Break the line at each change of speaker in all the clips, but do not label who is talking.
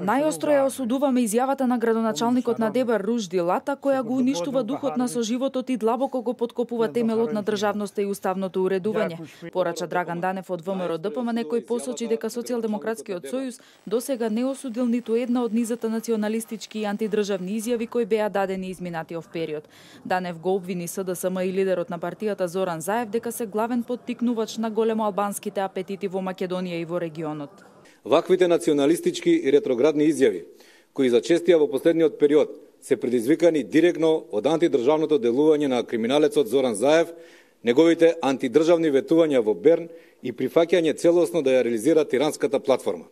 Најостро ја осудуваме изјавата на градоначалникот на Дебар Ружди Лата, која го уништува духот на соживотот и длабоко го поткопува темелот на државноста и уставното уредување. Порача Драган Данев од ВМРО ДПМН, кој посочи дека Социјалдемократскиот сојуз досега не осудил ниту една од низата националистички и антидржавни изјави кои беа дадени изминатиот период. Данев го обвини СДСМ и лидерот на партијата Зоран Заев дека се главен поттикнувач на големоалбанските апетити во Македонија и во регионот.
Ваквите националистички и ретроградни изјави, кои зачестија во последниот период, се предизвикани директно од антидржавното делување на криминалецот Зоран Заев, неговите антидржавни ветувања во Берн и прифаќање целосно да ја реализира тиранската платформа.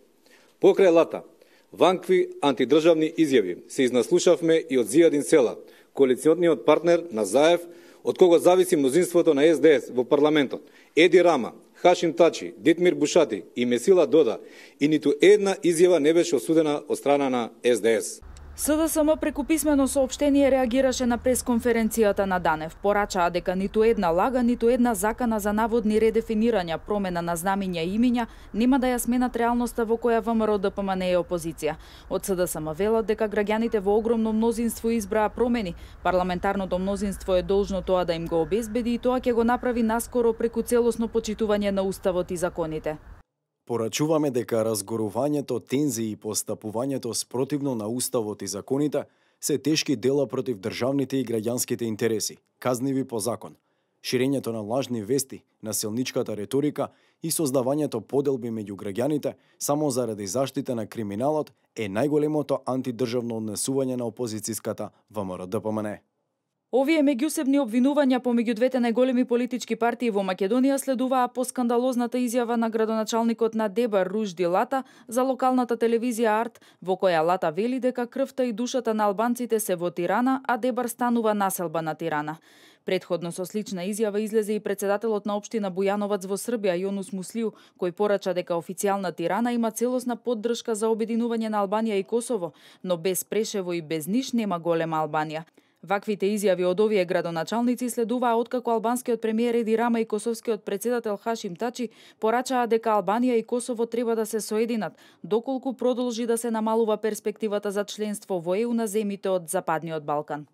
Покрај Лата, вакви антидржавни изјави се изнаслушавме и од Зијадин Села, коалициониот партнер на Заев, од кого зависи мнозинството на СДС во парламентот, Еди Рама, Хашим Тачи, Дитмир Бушати и Месила Дода, и ниту една изјава не беше осудена од страна на СДС.
СДСМ преку писмено соопштение реагираше на пресконференцијата на Данев. Порачаа дека ниту една лага, ниту една закана за наводни редефинирања, промена на знамиња и имиња нема да ја сменат реалноста во која ВМРО ДПМН е опозиција. Од СДСМ велат дека граѓаните во огромно мнозинство избраа промени. Парламентарното мнозинство е должно тоа да им го обезбеди и тоа ќе го направи наскоро преку целосно почитување на уставот и законите.
Порачуваме дека разгорувањето, тензии и постапувањето спротивно на уставот и законите се тешки дела против државните и граѓанските интереси, казниви по закон. Ширењето на лажни вести, насилничката риторика и создавањето поделби меѓу граѓаните само заради заштита на криминалот е најголемото антидржавно однесување на опозицијската ВМРО ДПМН.
Овие меѓусебни обвинувања помеѓу двете најголеми политички партии во Македонија следуваа по скандалозната изјава на градоначалникот на Дебар Ружди Лата за локалната телевизија Арт, во која Лата вели дека крвта и душата на албанците се во Тирана, а Дебар станува населба на Тирана. Предходно со слична изјава излезе и председателот на општина Бујановац во Србија Јонус Муслиу, кој порача дека официјална Тирана има целосна поддршка за обединување на Албанија и Косово, но без Прешево и без Ниш нема голема Албанија. Ваквите изјави од овие градоначалници следуваа откако албанскиот премиер Еди Рама и косовскиот председател Хашим Тачи порачаа дека Албанија и Косово треба да се соединат, доколку продолжи да се намалува перспективата за членство во ЕУ на земјите од Западниот Балкан.